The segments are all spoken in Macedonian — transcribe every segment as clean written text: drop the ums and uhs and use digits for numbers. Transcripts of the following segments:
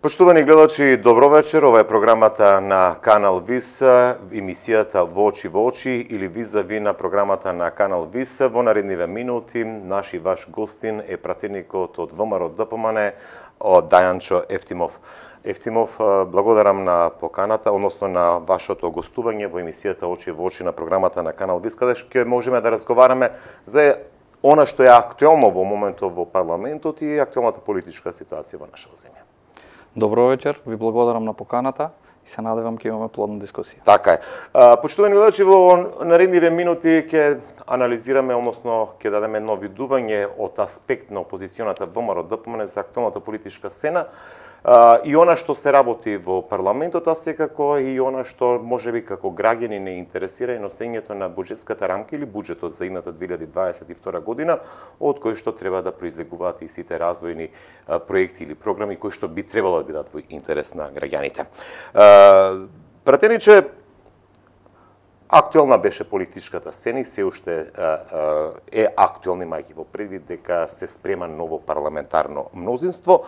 Почитувани гледачи, добро вечер. Ова е програмата на Канал ВИС, емисијата Во очи или визави на програмата на Канал ВИС. Во наредниве минути, наш и ваш гостин е пратеникот од ВМРО ДПМН, од Дајанчо Ефтимов. Ефтимов, благодарам на поканата, односно на вашето гостување во емисијата Очи во очи на програмата на Канал ВИС, каде ќе можеме да разговараме за она што е актуелно во моментот во парламентот и актуелната политичка ситуација во нашата земја. Добро вечер, ви благодарам на поканата и се надевам ќе имаме плодна дискусија. Така е. Почитувани гледачи, во наредниве минути ќе анализираме, односно ќе дадеме едно видување од аспект на опозиционата ВМРО ДПМН за актуелната политичка сцена и она што се работи во парламентот, а секако и она што можеби како граѓани не интересира и носењето на буџетската рамка или буџетот за идната 2022 година, од кој што треба да произлегуваат и сите развојни проекти или програми кои што би требало да бидат во интерес на граѓаните. Пратениче, актуелна беше политичката сцена и се уште е актуелна, имајќи во предвид дека се спрема ново парламентарно мнозинство.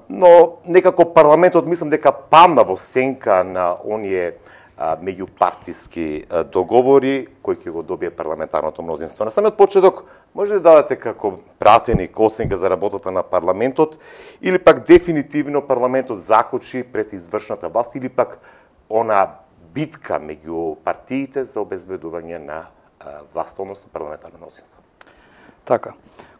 Но некако парламентот мислам дека падна во сенка на оние меѓупартиски договори кои ќе го добие парламентарното мнозинство. На самиот почеток може да дадете како пратеник оценка за работата на парламентот или пак дефинитивно парламентот закочи пред извршната власт или пак она битка меѓу партиите за обезбедување на власт, односно парламентарно мнозинство. Така.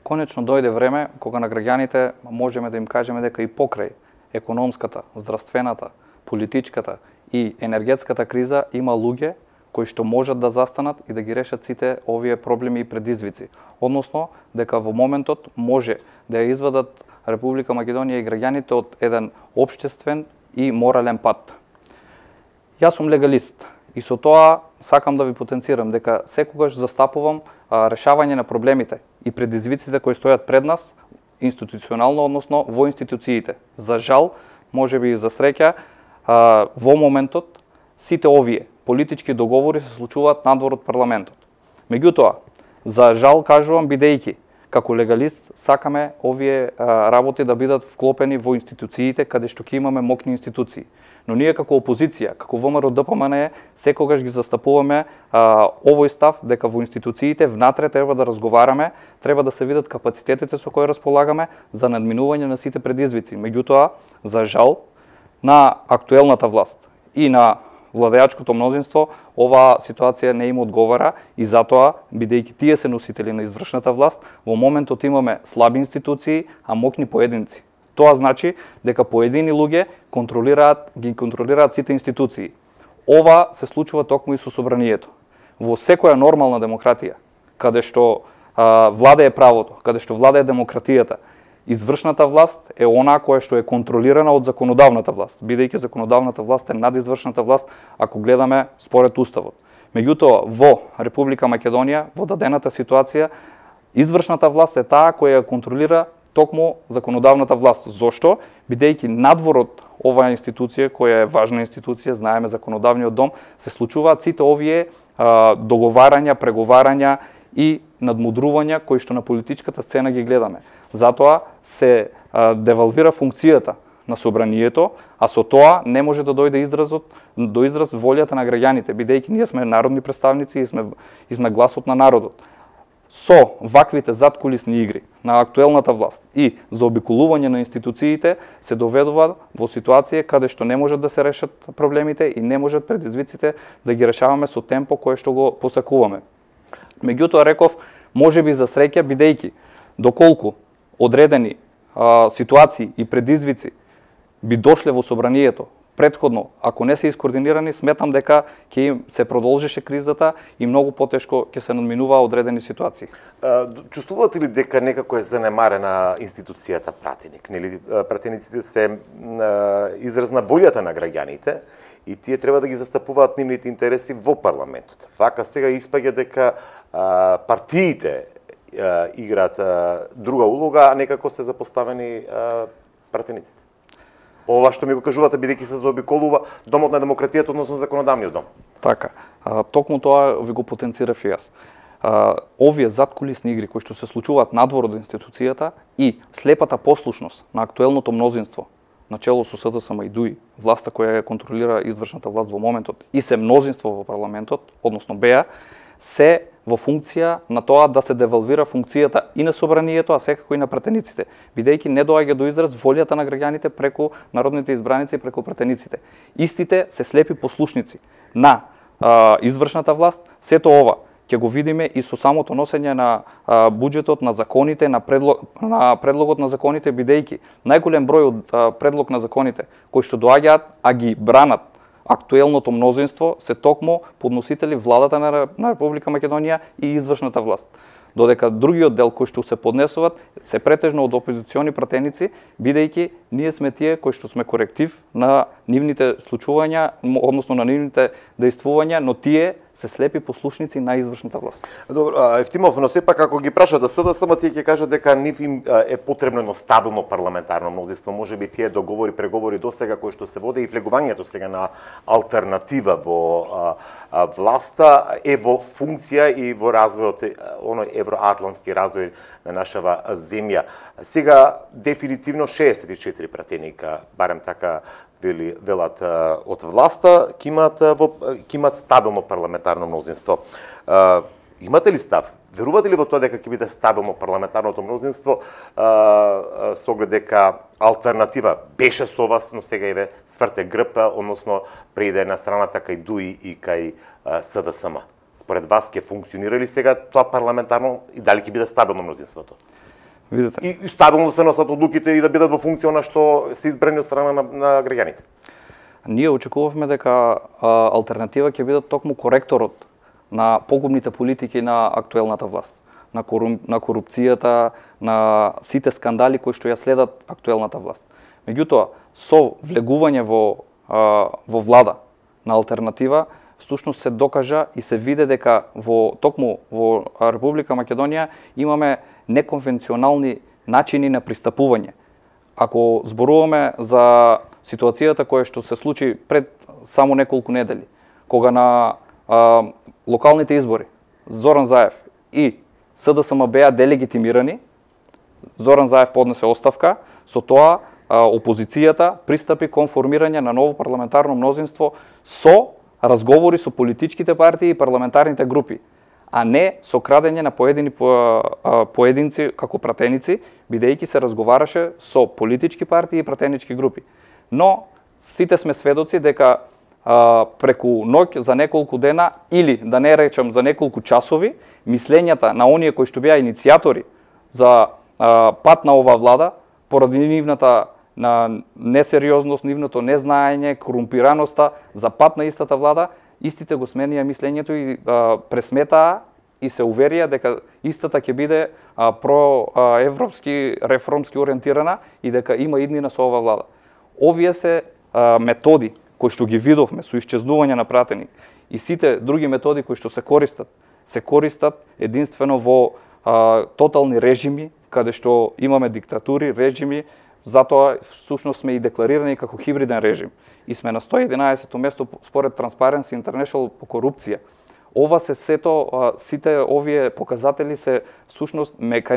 Конечно дојде време кога на граѓаните можеме да им кажеме дека и покрај економската, здравствената, политичката и енергетската криза има луѓе кои што можат да застанат и да ги решат сите овие проблеми и предизвици. Односно, дека во моментот може да ја извадат Република Македонија и граѓаните од еден општествен и морален пат. Јас сум легалист и со тоа сакам да ви потенцирам дека секогаш застапувам решавање на проблемите и предизвиците кои стојат пред нас институционално, односно во институциите. За жал, можеби и за среќа, во моментот сите овие политички договори се случуваат надвор од парламентот. Меѓутоа, за жал кажувам бидејќи како легалист сакаме овие работи да бидат вклопени во институциите каде што ќе имаме мокни институции. Но ние како опозиција, како ВМРО ДПМН, секогаш ги застапуваме овој став дека во институциите внатре треба да разговараме, треба да се видат капацитетите со кои располагаме за надминување на сите предизвици. Меѓутоа, за жал, на актуелната власт и на владеачкото мнозинство, оваа ситуација не им одговара и затоа, бидејќи тие се носители на извршната власт, во моментот имаме слаби институции, а мокни поединци. Тоа значи дека поедини луѓе ги контролираат сите институции. Ова се случува токму и со собранието. Во секоја нормална демократија, каде што владее правото, каде што владее демократијата, извршната власт е она која што е контролирана од законодавната власт, бидејќи законодавната власт е над извршната власт ако гледаме според уставот. Меѓутоа, во Република Македонија, во дадената ситуација, извршната власт е таа која контролира токму законодавната власт. Зошто? Бидејќи надвор од оваа институција, која е важна институција, знаеме законодавниот дом, се случуваат сите овие договарања, преговарања и надмудрувања кои што на политичката сцена ги гледаме. Затоа се девалвира функцијата на собранието, а со тоа не може да дојде до израз волјата на граѓаните, бидејќи ние сме народни представници и сме гласот на народот. Со ваквите задкулисни игри на актуелната власт и заобиколување на институциите се доведува во ситуација каде што не можат да се решат проблемите и не можат предизвиците да ги решаваме со темпо кое што го посакуваме. Меѓутоа реков, можеби за среќа, бидејќи доколку одредени ситуации и предизвици би дошле во собранието претходно, ако не се искоординирани, сметам дека ќе се продолжеше кризата и многу потешко ќе се надминуваа одредени ситуации. Чувствувате ли дека некако е занемарена институцијата пратеник? Нели пратениците се израз на волјата на граѓаните и тие треба да ги застапуваат нивните интереси во парламентот. Вака сега испаѓа дека партиите играат друга улога, а некако се запоставени пратениците. Ова што ми го кажувате, бидејќи се заобиколува домот на демократијата, односно законодавниот дом. Така, токму тоа ви го потенцирав и јас. Овие задкулисни игри кои што се случуваат надвор од институцијата и слепата послушност на актуелното мнозинство начело со СДСМ и ДУИ, власта која контролира извршната власт во моментот и се мнозинство во парламентот, односно БЕА, се во функција на тоа да се девалвира функцијата и на собранието, а секако и на пратениците, бидејќи не доаѓа до израз волјата на граѓаните преку народните избраници и преку пратениците. Истите се слепи послушници на извршната власт. Сето ова ќе го видиме и со самото носење на буџетот, на законите, на предлогот на законите, бидејќи најголем број од предлог на законите кои што доаѓаат, а ги бранат актуелното мнозинство, се токму подносители владата на Република Македонија и извршната власт. Додека другиот дел кои што се поднесуваат се претежно од опозициони пратеници, бидејќи ние сме тие кои што сме коректив на нивните случувања, односно на нивните дејствувања, но тие се слепи послушници на извршната власт. Добро, Евтимов, но сепак ако ги прашат да СДСМ, тие ќе кажат дека нив им е потребно едно стабилно парламентарно мнозинство. Можеби тие договори, преговори досега кои што се воде и влегувањето сега на алтернатива во власта е во функција и во развојот, оној евроатлантски развој на нашава земја. Сега дефинитивно 64 пратеника, барем така велат од власта, ќе имаат стабилно парламентарно мнозинство. Имате ли став? Верувате ли во тоа дека ќе биде стабилно парламентарното мнозинство со оглед дека алтернатива беше со вас, но сега еве сврте грб, односно преиде на страната кај ДУИ и кај СДСМ? Според вас ќе функционира ли сега тоа парламентарно и дали ќе биде стабилно мнозинството? Видите. И стабилно да се носат одлуките и да бидат во функција на што се избрани од страна на граѓаните. Ние очекувавме дека алтернатива ќе бидат токму коректорот на погубните политики на актуелната власт, на корупцијата, на сите скандали кои што ја следат актуелната власт. Меѓутоа, со влегување во влада на алтернатива, всушност се докажа и се виде дека токму во Република Македонија имаме неконвенционални начини на пристапување. Ако зборуваме за ситуацијата која што се случи пред само неколку недели, кога на локалните избори Зоран Заев и СДСМ беа делегитимирани, Зоран Заев поднесе оставка, со тоа опозицијата пристапи кон формирање на ново парламентарно мнозинство со разговори со политичките партии и парламентарните групи, а не со крадење на поединци како пратеници, бидејќи се разговараше со политички партии и пратенички групи. Но сите сме сведоци дека преку ноќ за неколку дена или да не речам за неколку часови, мислењата на оние кои што беа иницијатори за пат на оваа влада, поради нивната на несериозност, нивното незнаење, корумпираноста за пат на истата влада, истите го сменија мислењето и пресметаа и се уверија дека истата ќе биде проевропски, реформски ориентирана и дека има иднина со оваа влада. Овие се методи кои што ги видовме со исчезнување на пратеник и сите други методи кои што се користат единствено во тотални режими, каде што имаме диктатури, режими, затоа всушност сме и декларирани како хибриден режим и сме на 111-то место според Transparency International по корупција. Ова се сите овие показатели се всушност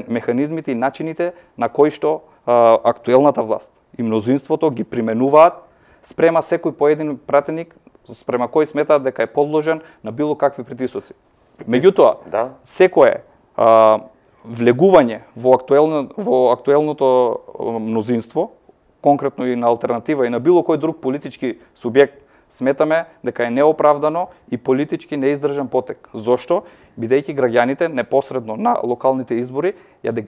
механизмите и начините на кои што актуелната власт и мнозинството ги применуваат спрема секој поедин пратеник спрема кој сметаат дека е подложен на било какви притисоци. Меѓутоа, секое влегување во актуелното мнозинство, конкретно и на алтернатива и на било кој друг политички субјект, сметаме дека е неоправдано и политички неиздржан потек. Зошто? Бидејќи граѓаните непосредно на локалните избори ја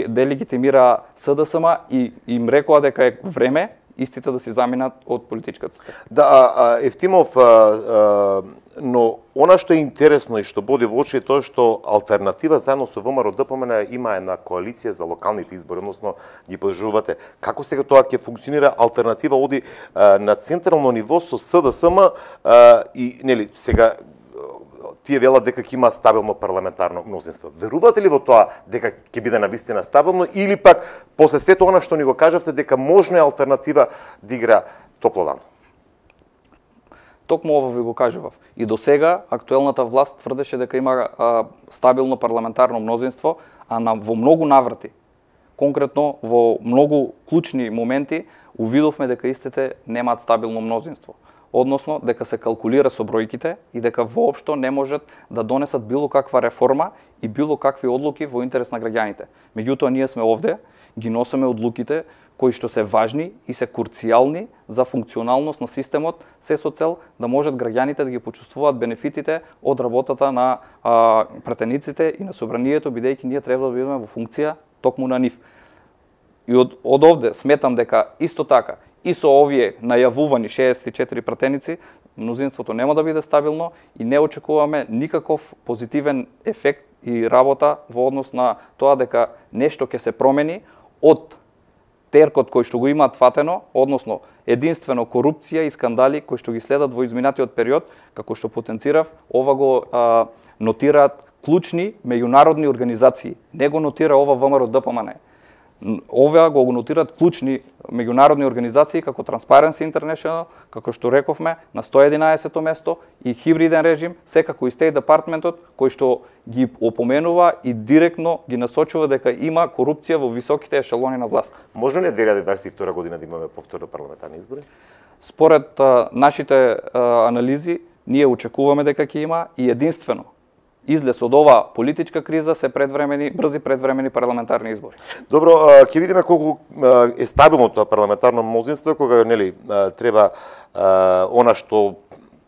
делегитимира СДСМ и им рекоа дека е време истите да се заминат од политичката сцена. Да, Евтимов, но она што е интересно и што боди во очи е тоа што алтернатива заедно со ВМРО ДПМН има една коалиција за локалните избори, односно ги подржувате. Како сега тоа ќе функционира? Алтернатива оди на централно ниво со СДСМ и нели сега тие велат дека ќе има стабилно парламентарно мнозинство. Верувате ли во тоа дека ќе биде навистина стабилно или пак после сето она што ни го кажавте дека можно е алтернатива да игра топло? Токму ова ви го кажував. И до сега актуелната власт тврдеше дека има стабилно парламентарно мнозинство, а во многу наврати, конкретно во многу клучни моменти увидовме дека истите немаат стабилно мнозинство. Односно, дека се калкулира со бројките и дека воопшто не можат да донесат било каква реформа и било какви одлуки во интерес на граѓаните. Меѓутоа, ние сме овде, ги носиме одлуките кои што се важни и се курцијални за функционалност на системот, се со цел да можат граѓаните да ги почувствуваат бенефитите од работата на пратениците и на собранието, бидејќи ние треба да бидеме во функција токму на нив. И од овде сметам дека исто така и со овие најавувани 64 пратеници, мнозинството нема да биде стабилно и не очекуваме никаков позитивен ефект и работа во однос на тоа дека нешто ќе се промени од теркот кој што го имаат фатено, односно единствено корупција и скандали кои што ги следат во изминатиот период, како што потенцирав, ова го нотираат клучни меѓународни организации. Не го нотира ова ВМРО ДПМН. Ова го нотираат клучни меѓународни организации како Transparency International, како што рековме, на 111-то место и хибриден режим, секако и State Department-от, кој што ги опоменува и директно ги насочува дека има корупција во високите ешелони на власт. Можно ли 2022 година да имаме повторно парламентарни избори? Според нашите анализи, ние очекуваме дека ќе има и единствено излез од ова политичка криза се брзи предвремени парламентарни избори. Добро, ќе видиме колку е стабилно тоа парламентарно мнозинство кога нели треба она што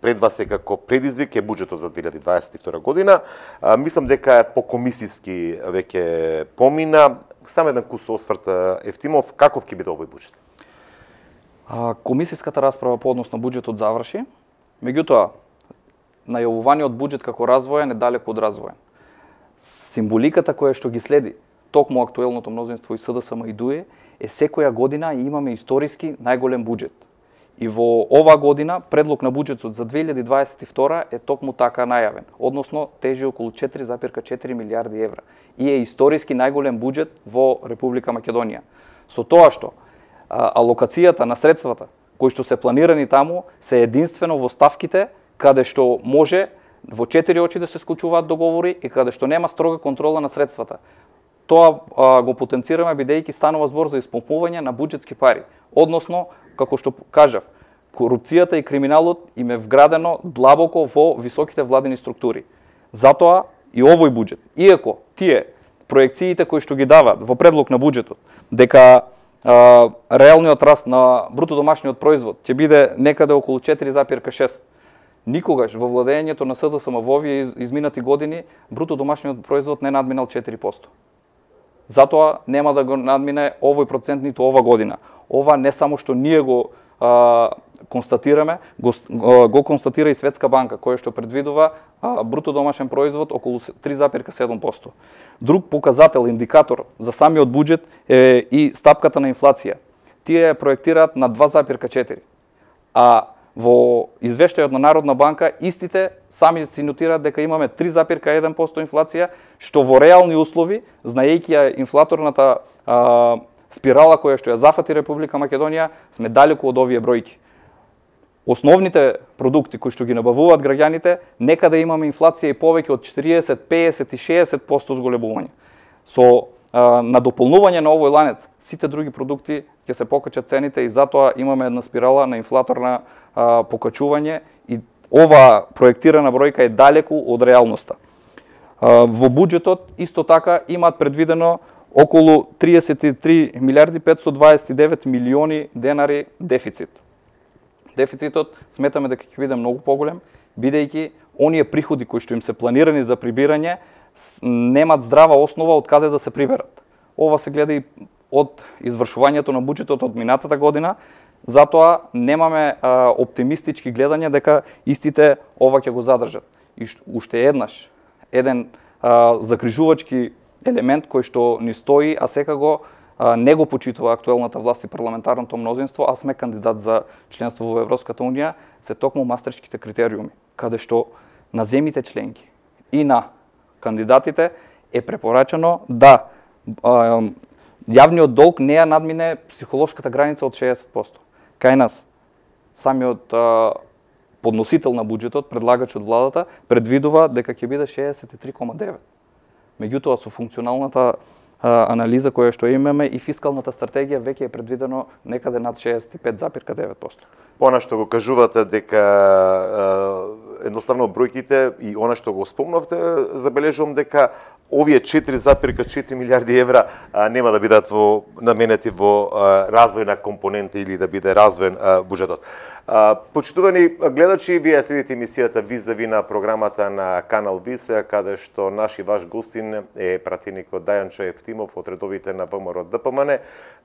пред вас е како предизвик е буџетот за 2022 година. Мислам дека е покомисиски веќе помина. Само еден кус осврт, Евтимов, каков ќе биде овој буџет? Комисиската расправа по однос на буџетот заврши. Меѓутоа, најавуваниот буџет како развоен е далеку од развоен. Символиката која што ги следи токму актуелното мнозинство и СДСМ и ДУЕ е секоја година имаме историски најголем буџет. И во ова година предлог на буџетот за 2022 е токму така најавен, односно тежи околу 4,4 милиарди евра и е историски најголем буџет во Република Македонија. Со тоа што алокацијата на средствата кои што се планирани таму се единствено во ставките каде што може во 4 очи да се склучуваат договори и каде што нема строга контрола на средствата. Тоа го потенцираме бидејќи станува збор за исполнување на буџетски пари. Односно, како што кажав, корупцијата и криминалот им е вградено длабоко во високите владени структури. Затоа и овој буџет, иако тие проекциите кои што ги даваат во предлог на буџетот, дека реалниот раст на бруто домашниот производ ќе биде некаде околу 4,6, никогаш во владењето на СДСМ во овие изминати години бруто домашниот производ не надминал 4%. Затоа нема да го надмине овој процент ниту ова година. Ова не само што ние го констатираме, го констатира и Светска банка, која што предвидува бруто домашен производ околу 3,7%. Друг показател, индикатор за самиот буџет е и стапката на инфлација. Тие проектираат на 2,4%. А во извештајот на Народна банка истите сами си нотираат дека имаме 3,1% инфлација, што во реални услови, знаејќи ја инфлаторната спирала која што ја зафати Република Македонија, сме далеку од овие бројки. Основните продукти кои што ги набавуваат граѓаните, некаде имаме инфлација и повеќе од 40, 50 и 60% зголемување. Со надополнување на овој ланец, сите други продукти ќе се покачат цените и затоа имаме една спирала на инфлаторна покачување и ова проектирана бројка е далеку од реалноста. Во буџетот исто така имаат предвидено околу 33 милиарди 529 милиони денари дефицит. Дефицитот сметаме дека ќе биде многу поголем, бидејќи оние приходи кои што им се планирани за прибирање немаат здрава основа од каде да се приберат. Ова се гледа и од извршувањето на буџетот од минатата година, затоа немаме оптимистички гледања дека истите ова ќе го задржат. И уште еднаш, еден закрижувачки елемент кој што ни стои, а секако не го почитува актуелната власт и парламентарното мнозинство, а сме кандидат за членство во Европската унија, се токму мастричките критериуми, каде што на земјите членки и на кандидатите е препорачено да јавниот долг не ја надмине психолошката граница од 60%. Кај нас, самиот подносител на буџетот, предлагач од владата, предвидува дека ќе биде 63,9%. Меѓутоа, со функционалната анализа која што имаме и фискалната стратегија веќе е предвидено некаде над 65,9%. Она што го кажувате дека едноставно бројките и она што го спомнавте, забележувам дека овие 4,4 милиарди евра нема да бидат наменети во развојна компонента или да биде развоен буџетот. Почитувани гледачи, вие следите емисијата Визави на програмата на Канал Вис, каде што наш и ваш гостин е пратеникот Дајанчо Евтимов од редовите на ВМРО ДПМН,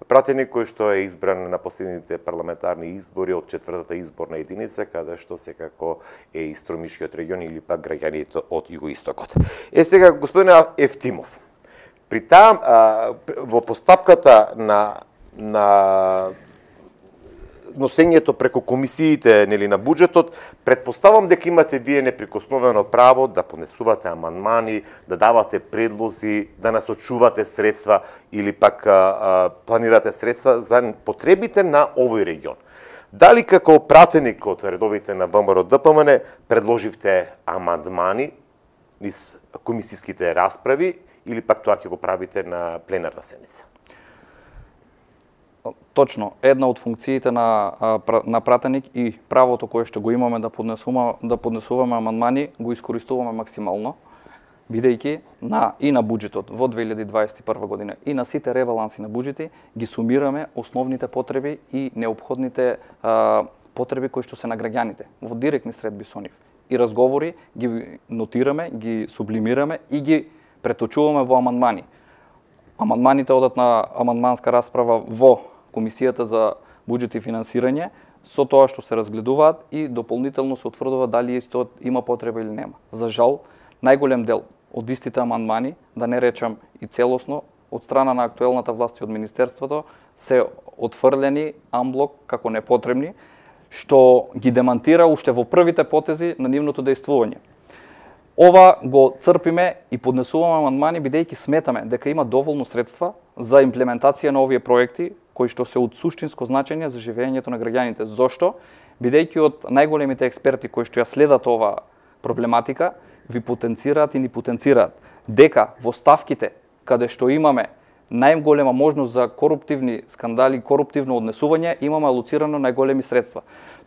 пратеник кој што е избран на последните парламентарни избори од 4-та изборна единица, каде што секако е и Стромишкиот регион или пак граѓаните од југоистокот. Сега, господине Евтимов, при таа во постапката на носењето преку комисиите нели на буџетот, претпоставам дека имате вие неприкосновено право да поднесувате амандмани, да давате предлози, да насочувате средства или пак планирате средства за потребите на овој регион. Дали како пратеник од редовите на ВМРО ДПМН предложивте амандмани низ комисиските расправи или пак тоа ќе го правите на пленарна седница? Точно, една од функциите на пратеник и правото кое што го имаме да поднесуваме амандмани го искористуваме максимално, бидејќи и на буџетот во 2021 година и на сите ребаланси на буџети ги сумираме основните потреби и неопходните потреби кои што се на граѓаните во директни средби со нив. И разговори ги нотираме, ги сублимираме и ги преточуваме во амандмани. Амандманите одат на амандманска расправа во Комисијата за буџет и финансирање, со тоа што се разгледуваат и дополнително се утврдува дали исто има потреба или нема. За жал, најголем дел од истите амандмани, да не речам и целосно, од страна на актуелната власт и од Министерството, се отфрлени амблок како непотребни, што ги демантира уште во првите потези на нивното дејствување. Ова го црпиме и поднесуваме амандмани бидејќи сметаме дека има доволно средства за имплементација на овие проекти кои што се од суштинско значење за живеењето на граѓаните. Зошто? Бидејќи од најголемите експерти кои што ја следат ова проблематика ви потенцираат и ни потенцираат дека во ставките каде што имаме најголема можност за коруптивни скандали, коруптивно однесување, имаме алоцирано најголеми средства.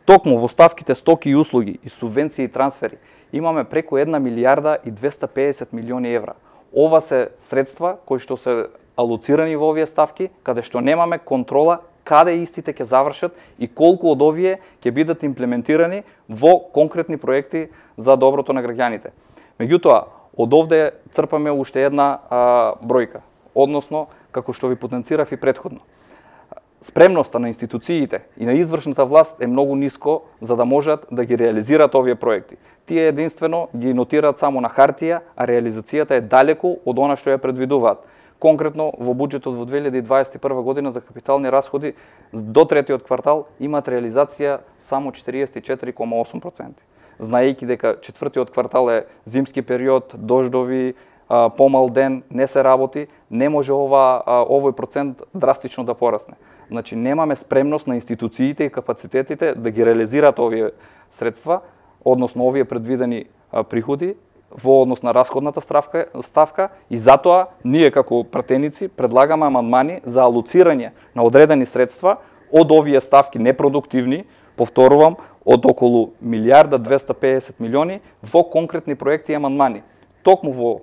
Токму во ставките стоки и услуги и субвенции и трансфери имаме преку 1 милијарда и 250 милиони евра. Ова се средства кои што се алоцирани во овие ставки, каде што немаме контрола каде истите ќе завршат и колку од овие ќе бидат имплементирани во конкретни проекти за доброто на граѓаните. Меѓутоа, од овде црпаме уште една бројка, односно, како што ви потенцирав и претходно. Спремноста на институциите и на извршната власт е многу ниско за да можат да ги реализираат овие проекти. Тие единствено ги нотираат само на хартија, а реализацијата е далеку од она што ја предвидуваат. Конкретно во буџетот во 2021 година за капитални расходи до третиот квартал имаат реализација само 44,8%. Знаејќи дека четвртиот квартал е зимски период, дождови, помал ден, не се работи, не може овој процент драстично да порасне. Значи немаме спремност на институциите и капацитетите да ги реализираат овие средства, односно овие предвидени приходи во однос на расходната ставка и затоа ние како пратеници предлагаме амандмани за алоцирање на одредени средства од овие ставки непродуктивни, повторувам, од околу 1,250 милиони во конкретни проекти и амандмани. Токму во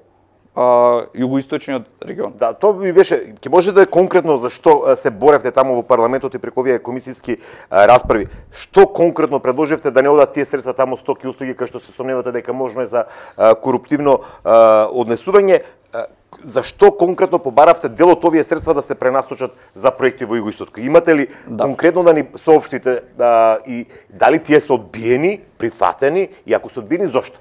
југоисточниот регион. Да, тоа ми беше, ќе може да е конкретно зашто се боревте таму во парламентот и преку овие комисиски расправи. Што конкретно предложивте да не одат тие средства таму стоки и услуги кај што се сомневате дека можно е за коруптивно однесување? Зашто конкретно побаравте дел од овие средства да се пренасочат за проекти во југоисток? Имате ли конкретно да ни соопштите и дали тие се одбиени, прифатени и ако се одбиени зошто?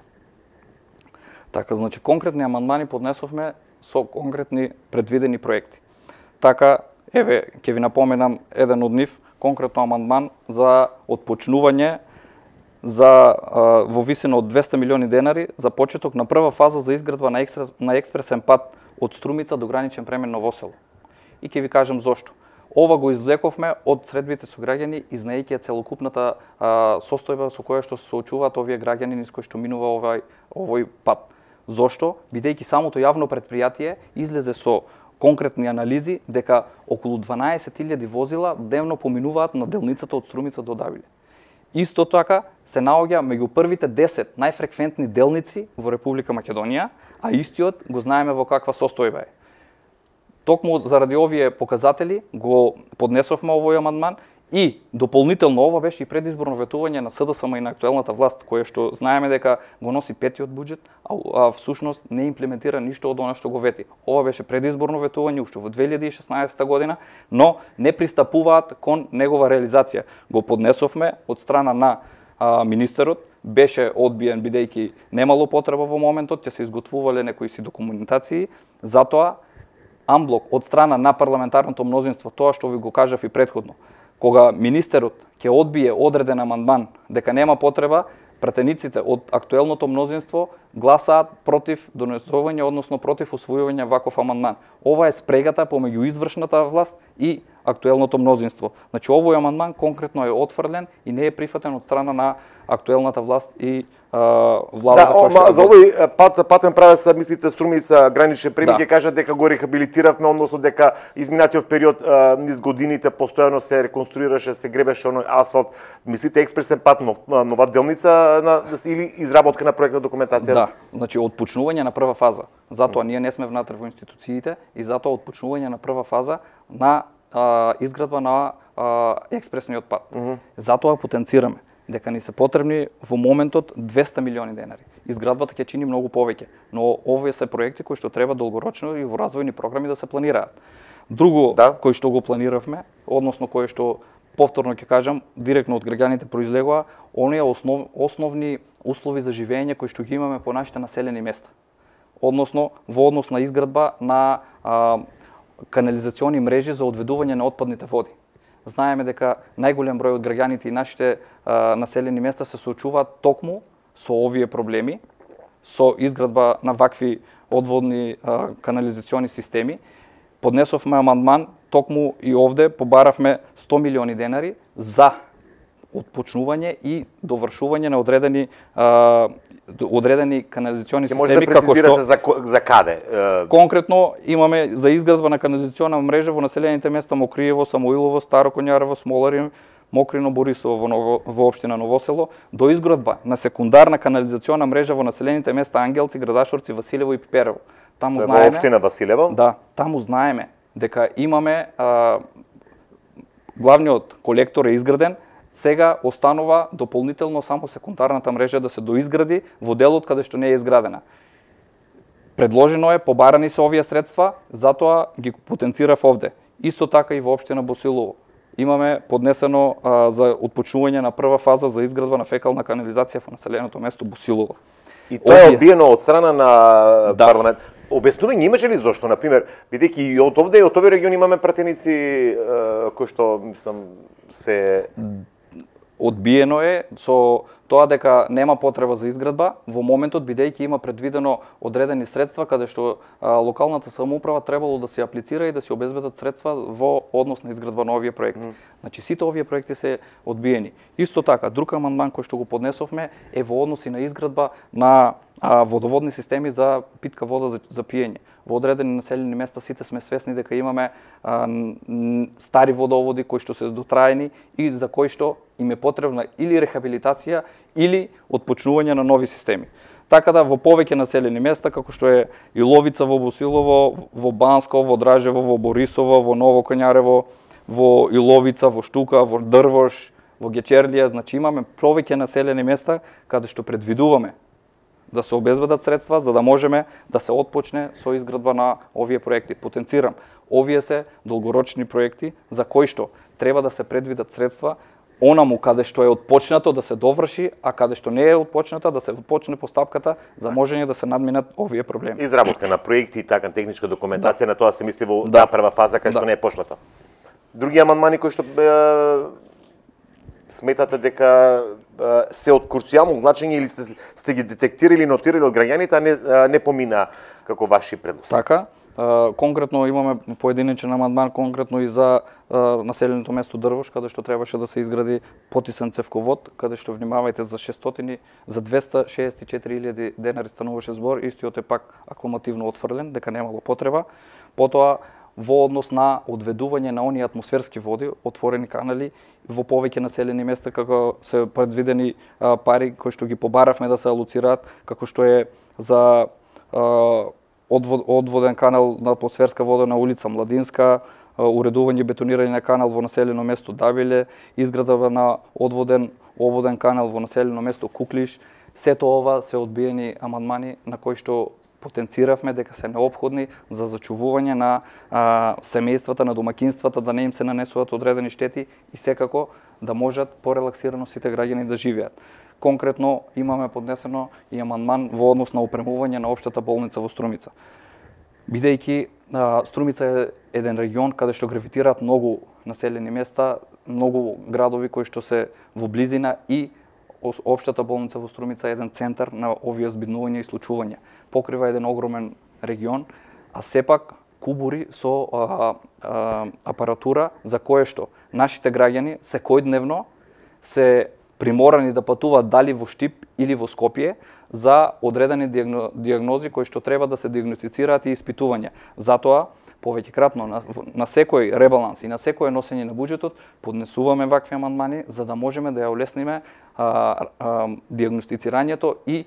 Така, значи, конкретни амандмани поднесовме со конкретни предвидени проекти. Така, еве, ќе ви напоменам еден од нив, конкретно амандман за отпочнување во висина од 200 милиони денари за почеток на прва фаза за изградба на експресен пат од Струмица до граничен премен Новосело. И ќе ви кажам зошто. Ова го извлековме од средбите со граѓани и знаејќи целокупната состојба со која што се соочуваат овие граѓани низ кои што минува овој пат. Зошто? Бидејќи самото јавно претпријатие излезе со конкретни анализи дека околу 12.000 возила дневно поминуваат на делницата од Струмица до Давиле. Исто така се наоѓа меѓу првите 10 најфреквентни делници во Република Македонија, а истиот го знаеме во каква состојба е. Токму заради овие показатели го поднесовме овој амандман и дополнително ова беше и предизборно ветување на СДСМ и на актуелната власт, кое што знаеме дека го носи петиот буџет, а всушност не имплементира ништо од она што го вети. Ова беше предизборно ветување уште во 2016 година, но не пристапуваат кон негова реализација. Го поднесовме од страна на министерот, беше одбиен бидејќи немало потреба во моментот, ќе се изготвувале некои си документации, затоа амблок од страна на парламентарното мнозинство, тоа што ви го кажав и претходно, кога министерот ќе одбие одреден амандман дека нема потреба, пратениците од актуелното мнозинство гласаат против донесување, односно против усвојување ваков амандман. Ова е спрегата помеѓу извршната власт и актуелното мнозинство. Значи овој амандман конкретно е отфрлен и не е прифатен од страна на актуелната власт и владата. Да, за овој патен правец, мислите, Струмица граничен премиер ќе кажат дека го рехабилитиравме, односно дека изминатиот период низ годините постојано се реконструираше, се гребеше оној асфалт. Мислите експресен пат, нова делница или изработка на проектна документација? Да, значи отпочнување на прва фаза. Затоа ние не сме внатре во институциите и затоа отпочнување на прва фаза на изградба на експресниот пат. Затоа потенцираме дека ни се потребни во моментот 200 милиони денари. Изградбата ќе чини многу повеќе, но овие се проекти кои што треба долгорочно и во развојни програми да се планираат. Друго кој што го планиравме, односно кој што повторно ќе кажам, директно од граѓаните произлегува, оние основни услови за живење кои што ги имаме по нашите населени места. Односно во однос на изградба на канализациони мрежи за одведување на отпадните води. Знаеме дека најголем број од граѓаните и нашите населени места се соочуваат токму со овие проблеми, со изградба на вакви одводни канализациони системи. Поднесовме амандман, токму и овде побаравме 100 милиони денари за отпочнување и довршување на одредени канализациони системи. Може да прецизирате за каде? Конкретно имаме за изградба на канализациона мрежа во населените места Мокриево, Самуилово, Старо Коњарево, Смоларин, Мокрино, Борисово во општина Новосело, до изградба на секундарна канализациона мрежа во населените места Ангелци, Градашорци, Василево и Пиперево. Таму знаеме, во општина Василево? Да, таму знаеме дека имаме главниот колектор е изграден. Сега останува дополнително само секундарната мрежа да се доизгради во делот каде што не е изградена. Предложено е, побарани се овие средства, затоа ги потенцирав овде. Исто така и во општина Босилово. Имаме поднесено за отпочнување на прва фаза за изградба на фекална канализација во населеното место Босилово. И тоа е одбиено од страна на парламент. Обяснување имаше ли зошто, на пример, бидејќи и од овде и од овие региони имаме пратеници кои што мислам се одбиено е со тоа дека нема потреба за изградба во моментот, бидејќи има предвидено одредени средства каде што локалната самоуправа требало да се аплицира и да се обезбедат средства во однос на изградба на овие проекти. Значи сите овие проекти се одбиени. Исто така, друг амандман кој што го поднесовме е во односи на изградба на водоводни системи за питка вода за пиење. Во одредени населени места сите сме свесни дека имаме стари водоводи кои што се дотраени и за кои што им е потребна или рехабилитација или отпочнување на нови системи. Така да во повеќе населени места, како што е Иловица во Босилово, во Банско, во Дражево, во Борисово, во Ново Коњарево, во Иловица, во Штука, во Дрвош, во Гечерлија, значи имаме повеќе населени места каде што предвидуваме да се обезбедат средства за да можеме да се отпочне со изградба на овие проекти. Потенцирам, овие се долгорочни проекти за кои што треба да се предвидат средства онаму каде што е отпочнато да се доврши, а каде што не е отпочната да се отпочне постапката за можење да се надминат овие проблеми. Изработка на проекти и така техничка документација, на тоа се мисли во прва фаза кај што не е почнато. Други амандмани кои што сметате дека се од круцијално значење или сте ги детектирали, нотирали од граѓаните, а не помина како ваши предлози? Така, Конкретно имаме поединечен амандман конкретно и за населеното место Дрвош, каде што требаше да се изгради потисен цевковод, каде што внимавајте за 264.000 денари стануваше збор, истиот е пак акламативно отфрлен, дека немало потреба. Потоа во однос на одведување на оние атмосферски води, отворени канали во повеќе населени места, како се предвидени пари кои што ги побаравме да се алоцираат, како што е за одводен канал на атмосферска вода на улица Младинска, уредување и бетонирање на канал во населено место Дабиле, изграда на обводен канал во населено место Куклиш. Сето ова се одбиени амандмани на кои што потенциравме дека се неопходни за зачувување на семејствата, на домакинствата, да не им се нанесуваат одредени штети и секако да можат порелаксирано сите граѓани да живеат. Конкретно имаме поднесено и амандман во однос на опремување на општата болница во Струмица. Бидејќи Струмица е еден регион каде што гравитираат многу населени места, многу градови кои што се во близина и општата болница во Струмица е еден центар на овие збиднувања и случувања. Покрива еден огромен регион, а сепак кубури со апаратура за кое што нашите граѓани секојдневно се приморани да патуваат дали во Штип или во Скопје за одредени диагнози кои што треба да се диагностицираат и испитувања. Затоа повеќекратно на секој ребаланс и на секое носење на буџетот поднесуваме вакви амандмани за да можеме да ја олесниме диагностицирањето и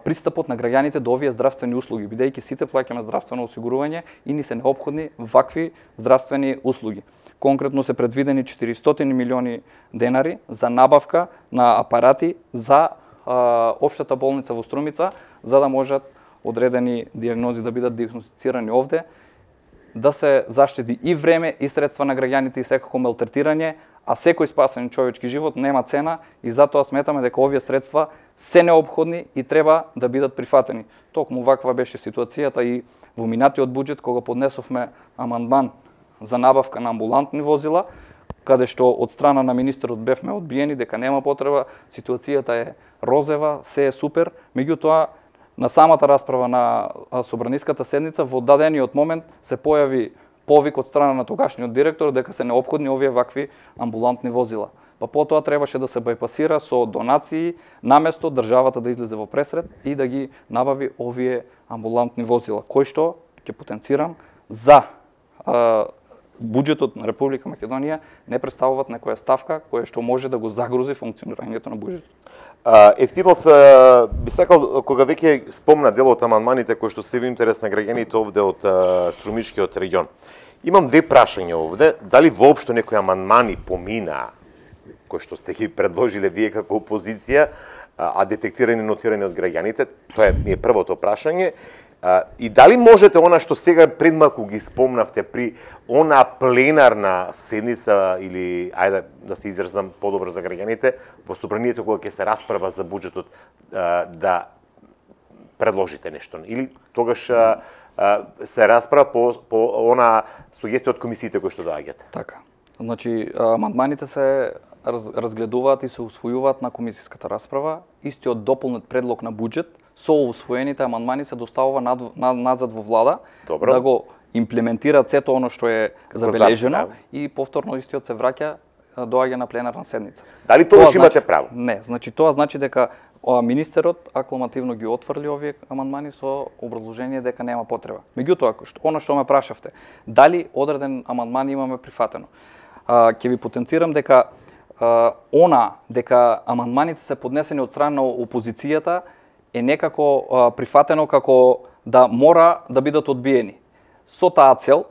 пристапот на граѓаните до овие здравствени услуги, бидејќи сите плаќаме здравствено осигурување и ни се неопходни вакви здравствени услуги. Конкретно се предвидени 400 милиони денари за набавка на апарати за општата болница во Струмица, за да можат одредени диагнози да бидат диагностицирани овде, да се заштети и време и средства на граѓаните и секако малтретирање, а секој спасен човечки живот нема цена и затоа сметаме дека овие средства се неопходни и треба да бидат прифатени. Токму ваква беше ситуацијата и во минатиот буџет кога поднесовме амандман за набавка на амбулантни возила, каде што од страна на министерот бевме одбиени дека нема потреба, ситуацијата е розева, се е супер, меѓутоа на самата расправа на собраниската седница во дадениот момент се појави повик од страна на тогашниот директор дека се неопходни овие вакви амбулантни возила. Па потоа требаше да се бајпасира со донации, наместо државата да излезе во пресред и да ги набави овие амбулантни возила, кои што ќе потенцирам за буџетот на Република Македонија не представуваат некоја ставка која што може да го загрози функционирањето на буџетот. Евтимов би сакал, кога веќе спомна дел од амандманите кои што се во интерес на граѓаните овде од Струмичкиот регион. Имам две прашања овде, дали воопшто некои амандмани помина кои што сте ги предложиле вие како опозиција, а детектирани и нотирани од граѓаните, тоа ми е првото прашање. И дали можете она што сега предмалку ги спомнавте при она пленарна седница или ајде да се изразам подобро за граѓаните во собранието кога ќе се расправа за буџетот да предложите нешто или тогаш се расправа по она сугестија од комисиите кои што доаѓаат? Така. Значи амандманите се разгледуваат и се усвојуваат на комисиската расправа. Истиот дополнет предлог на буџет со усвоените амандмани се доставува назад во влада. Добро. Да го имплементираат сето оно што е забележено и повторно истиот се враќа доаѓа на пленарна седница. Дали тогаш имате право? Не, значи тоа значи дека министерот акламативно ги отфрли овие амандмани со образложение дека нема потреба. Меѓутоа, оно што ме прашавте, дали одреден амандман имаме прифатено? Ќе ви потенцирам дека дека амандманите се поднесени од страна на опозицијата е некако прифатено како да мора да бидат одбиени. Со таа цел,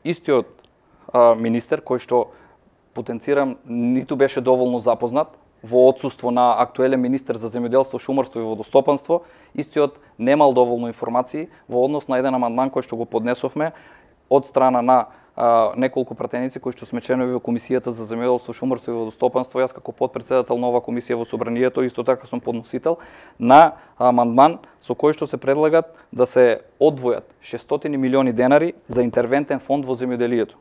истиот министер, кој што потенцирам ниту беше доволно запознат, во отсуство на актуелен министер за земјоделство, шумарство и водостопанство, истиот немал доволно информации во однос на еден амандман кој што го поднесовме од страна на неколку пратеници кои што сме членови во Комисијата за земјоделство, шумарство и водостопанство, јас како потпредседател на оваа комисија во собранието, исто така сум подносител на амандман со кој што се предлагат да се одвојат 600 милиони денари за интервентен фонд во земјоделието.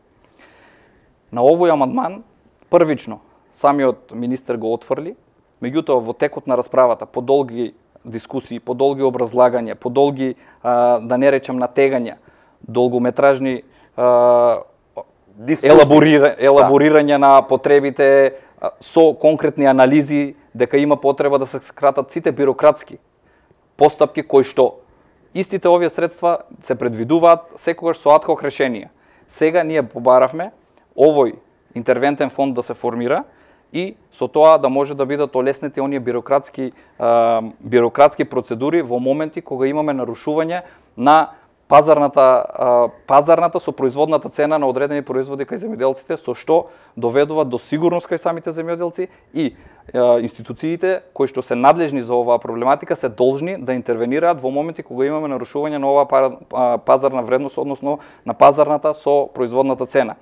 На овој амандман првично самиот министер го отфрли, меѓутоа во текот на расправата, по долги дискусии, по долги образлагања, по долги да не речам натегања долгометражни Дискусии. елаборирање на потребите со конкретни анализи дека има потреба да се скратат сите бирократски постапки кои што истите овие средства се предвидуваат секогаш со адхок решенија. Сега ние побаравме овој интервентен фонд да се формира и со тоа да може да бидат олеснети оние бирократски процедури во моменти кога имаме нарушување на пазарната со производната цена на одредени производи кај земјоделците, со што доведува до сигурност кај самите земјоделци и институциите кои што се надлежни за оваа проблематика се должни да интервенираат во моменти кога имаме нарушување на оваа пазарна вредност, односно на пазарната со производната цена.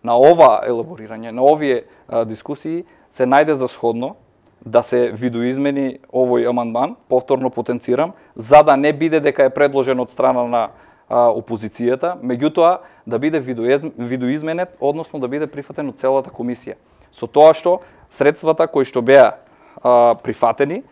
На ова елаборирање, на овие дискусии се најде за сходно да се видоизмени овој амандман, повторно потенцирам, за да не биде дека е предложен од страна на опозицијата, меѓутоа да биде видоизменет, односно да биде прифатен од целата комисија. Со тоа што средствата кои што беа прифатени,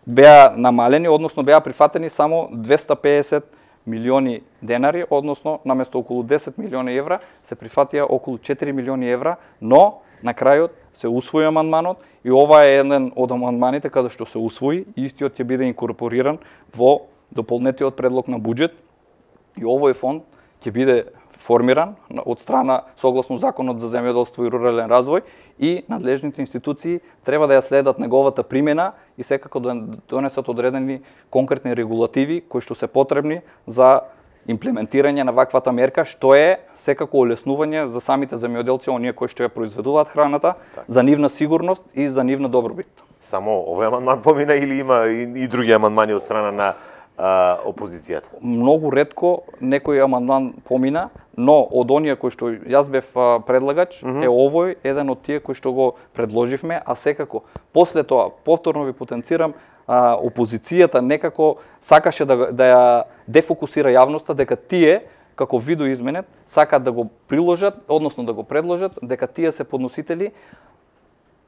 беа намалени, односно беа прифатени само 250 милиони денари, односно наместо околу 10 милиони евра се прифатија околу 4 милиони евра, но на крајот се усвои амандманот и ова е еден од амандманите каде што се усвои и истиот ќе биде инкорпориран во дополнетиот предлог на буџет и овој фонд ќе биде формиран од страна согласно Законот за земјоделство и рурален развој и надлежните институции треба да ја следат неговата примена и секако да донесат одредени конкретни регулативи кои што се потребни за имплементирање на ваквата мерка, што е секако олеснување за самите земјоделци, оние кои што ја произведуваат храната, за нивна сигурност и за нивна добробит. Само овој амандман помина или има и други амандмани од страна на опозицијата? Многу ретко некој амандман помина, но од оние кои што јас бев предлагач, е овој еден од тие кои што го предложивме, а секако после тоа повторно ви потенцирам, опозицијата некако сакаше да ја дефокусира јавноста дека тие како видоизменет сакаат да го приложат, односно да го предложат, дека тие се подносители.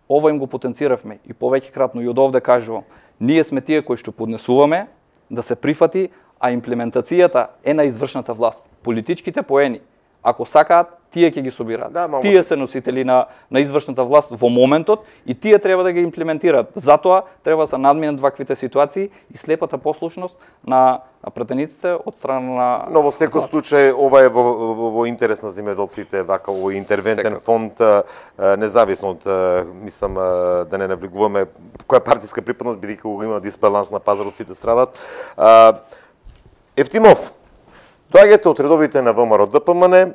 Ова им го потенциравме и повеќе кратно и од овде кажувам. Ние сме тие кои што поднесуваме да се прифати, а имплементацијата е на извршната власт. Политичките поени, ако сакаат, тие ќе ги собираат. Тие се носители на извршната власт во моментот и тие треба да ги имплементираат. Затоа треба да се надминат ваквите ситуации и слепата послушност на пратениците од страна на... Но во секој случај ова е во интерес на земјоделците, вака овој интервентен фонд, независно од, мислам, да не навлегуваме која партиска припадност, бидејќи кога има дисбаланс на пазарот сите страдат. Евтимов, доаѓате од редовите на ВМРО-ДПМН,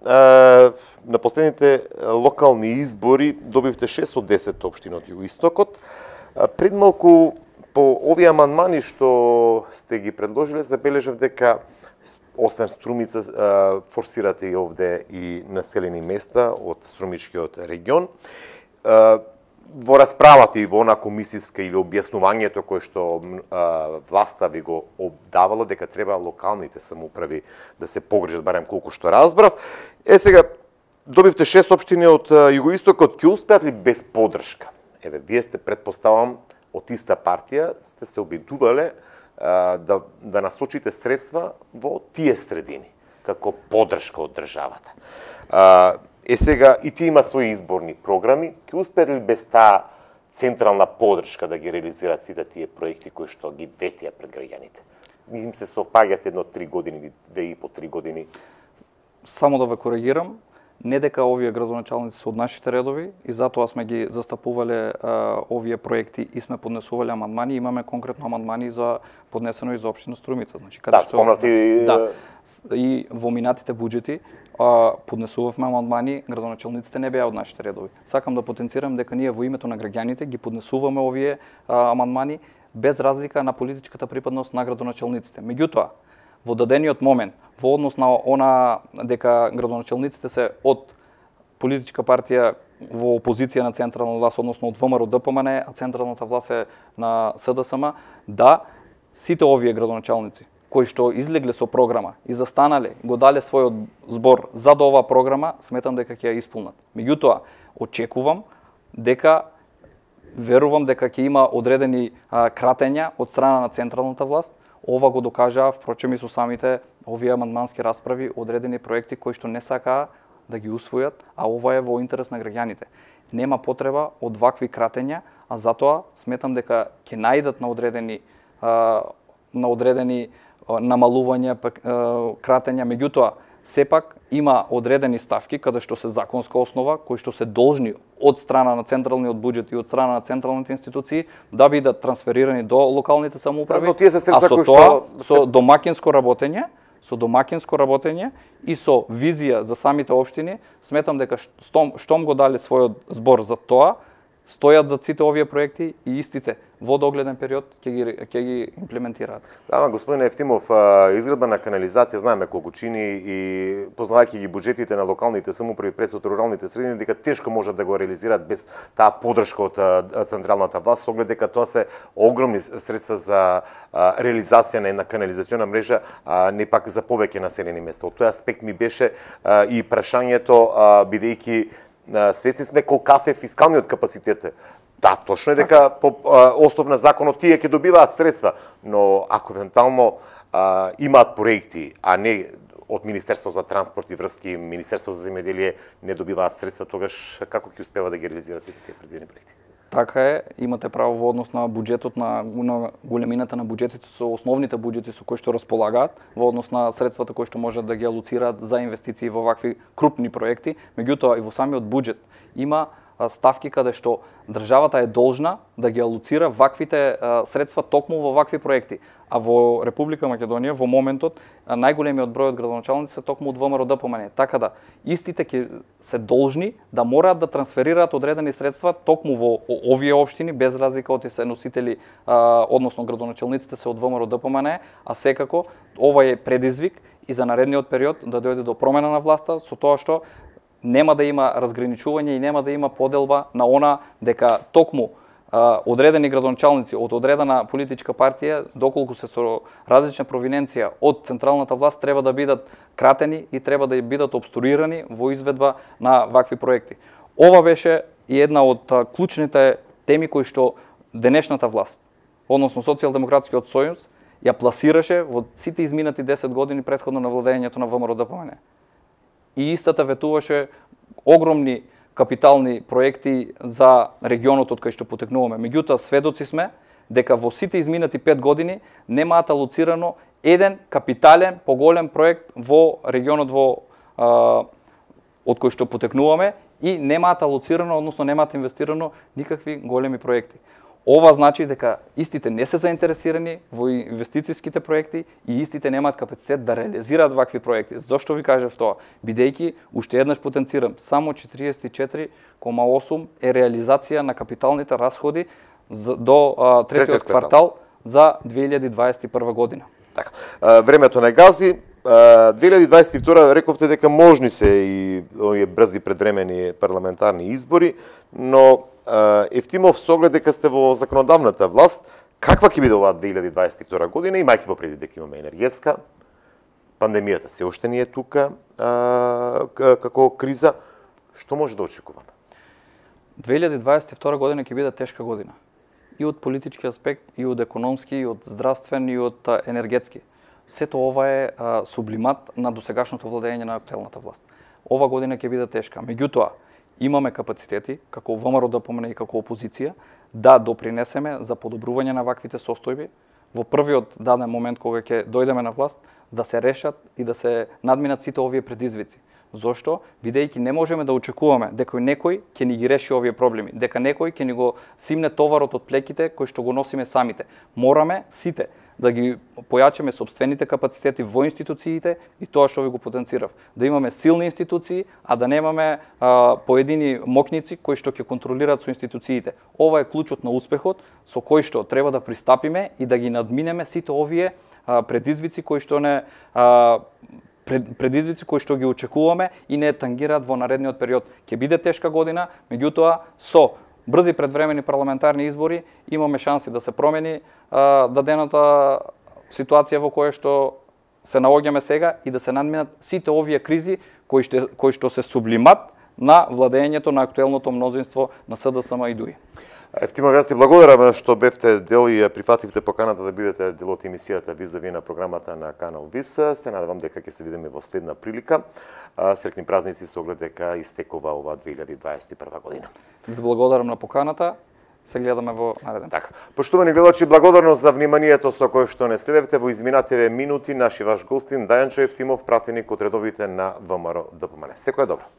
на последните локални избори добивте 6 од 10 општини од Југоистокот. Пред малку по овие амандмани што сте ги предложиле, забележав дека освен Струмица форсирате и овде и населени места од Струмичкиот регион. Во расправата и во она комисиска или објаснувањето кое што власта ви го обдавала дека треба локалните самоуправи да се погрижат, барем колку што разбрав. Сега добивте 6 општини од Југоистокот, ќе успеат ли без поддршка? Вие сте, предпоставам, од иста партија, сте се обидувале да насочите средства во тие средини, како поддршка од државата. Сега и тие имаат своји изборни програми, ќе успеат ли без таа централна поддршка да ги реализираат сите тие проекти кои што ги ветија пред граѓаните? Им се совпаѓат едно 3 години или 2,5-3 години? Само да ве коригирам, не дека овие градоначалници се од нашите редови и затоа сме ги застапувале овие проекти и сме поднесувале амандмани, имаме конкретно амандмани за поднесено и за општина Струмица, значи каде спомнати и во минатите буџети поднесувавме амандмани, градоначалниците не беа од нашите редови. Сакам да потенцирам дека ние во името на граѓаните ги поднесуваме овие амандмани без разлика на политичката припадност на градоначалниците. Меѓутоа, во дадениот момент, во однос на она дека градоначалниците се од политичка партија во опозиција на централна власт, односно од ВМРО-ДПМН, а централната власт е на СДСМ, да сите овие градоначалници кои што излегле со програма и застанале, го дале својот збор за оваа програма, сметам дека ќе ја исполнат. Меѓутоа, очекувам дека верувам дека ќе има одредени кратења од страна на централната власт, Ова го докажаа, впрочем и со самите овие амандмански расправи, одредени проекти кои што не сакаа да ги усвојат, а ова е во интерес на граѓаните. Нема потреба од вакви кратења, а затоа сметам дека ќе наидат на одредени намалувања, кратења, меѓутоа сепак има одредени ставки каде што се законска основа, кои што се должни од страна на централниот буџет и од страна на централните институции да бидат трансферирани до локалните самоуправи, но тие се а со кои тоа со домакинско работење и со визија за самите општини, сметам дека штом го дали својот збор за тоа, стојат за сите овие проекти и истите во догледен период ќе ги имплементираат. Да, господин Ефтимов, изградба на канализација знаеме колку чини и познавајќи ги буџетите на локалните самоуправи пред со руралните средини, дека тешко можат да го реализираат без таа поддршка од централната власт, оглед дека тоа се огромни средства за реализација на една канализациона мрежа, не пак за повеќе населени места. Од тој аспект ми беше и прашањето, бидејќи свесни сме колкав е фискалниот капацитет. Да, точно е дека по основ на законот тие ќе добиваат средства, но ако евентуално имаат проекти, а не од Министерство за транспорт и врски, Министерство за земјоделие не добиваат средства, тогаш како ќе успева да ги реализираат сите тие предвидени проекти? Така е, имате право во однос на буџетот, на големината на буџетите, со основните буџети со кои што располагаат, во однос на средствата кои што можат да ги алоцираат за инвестиции во вакви крупни проекти, меѓутоа и во самиот буџет има ставки каде што државата е должна да ги алоцира ваквите средства токму во вакви проекти. А во Република Македонија во моментот најголемиот број од градоначалници се токму од ВМРО ДПМН. Така да истите ќе се должни да мораат да трансферираат одредени средства токму во овие општини без разлика од се носители, односно градоначалниците се од ВМРО ДПМН, а секако ова е предизвик и за наредниот период да дојде до промена на власта со тоа што нема да има разграничување и нема да има поделба на она дека токму одредени градоначалници од одредена политичка партија, доколку се со различна провиненција од централната власт, треба да бидат кратени и треба да бидат обструирани во изведба на вакви проекти. Ова беше и една од клучните теми кои што денешната власт, односно Социјалдемократскиот сојуз, ја пласираше во сите изминати 10 години претходно на владењето на ВМРО ДПМН. И истата ветуваше огромни капитални проекти за регионот од кај што потекнуваме. Меѓутоа, сведоци сме дека во сите изминати 5 години немаат алоцирано еден капитален, поголем проект во регионот од кој што потекнуваме и немаат алоцирано, односно немаат инвестирано никакви големи проекти. Ова значи дека истите не се заинтересирани во инвестицијските проекти и истите немаат капацитет да реализираат вакви проекти. Зошто ви кажав тоа? Бидејќи, уште еднаш потенцирам, само 44,8 е реализација на капиталните расходи до третиот квартал за 2021 година. Така, времето не гази. 2022 рековте дека можни се и овие брзи предвремени парламентарни избори, но Ефтимов, со оглед дека сте во законодавната власт, каква ќе биде оваа 2022 година, имајќи во предвид дека имаме енергетска, пандемијата се уште не е тука како криза, што може да очекуваме? 2022 година ќе биде тешка година. И од политички аспект, и од економски, и од здравствен, и од енергетски. Сето ова е сублимат на досегашното владење на актуелната власт. Ова година ќе биде тешка. Меѓутоа, имаме капацитети, како ВМРО ДПМН и како опозиција, да допринесеме за подобрување на ваквите состојби во првиот даден момент кога ќе дојдеме на власт, да се решат и да се надминат сите овие предизвици. Зошто? Бидејќи не можеме да очекуваме дека некој ќе ни ги реши овие проблеми, дека некој ќе ни го симне товарот од плеките кои што го носиме самите. Мораме сите да ги појачаме собствените капацитети во институциите и тоа што ви го потенцирав. Да имаме силни институции, а да немаме поедини мокници кои што ќе контролираат со институциите. Ова е клучот на успехот со кој што треба да пристапиме и да ги надминеме сите овие предизвици кои што предизвици кои што ги очекуваме и не тангираат во наредниот период. Ќе биде тешка година, меѓутоа со брзи предвремени парламентарни избори имаме шанси да се промени дадената ситуација во која што се наоѓаме сега и да се надминат сите овие кризи кои што се сублимат на владењето на актуелното мнозинство на СДСМ и ДУИ. Ефтимов, јас ти благодарам што бевте дел и прифативте поканата да бидете дел од емисијата Визави на програмата на Канал Вис. Се надевам дека ќе се видиме во следна прилика. Среќни празници со оглед дека истекува ова 2021 година. Ви благодарам на поканата. Се гледаме во нареден. Така. Поштовани гледачи, благодарност за вниманието со кое што не следевте во изминативе минути. Наши ваш гостин Дајанчо Ефтимов, пратеник од редовите на ВМРО ДПМН. Секој добро.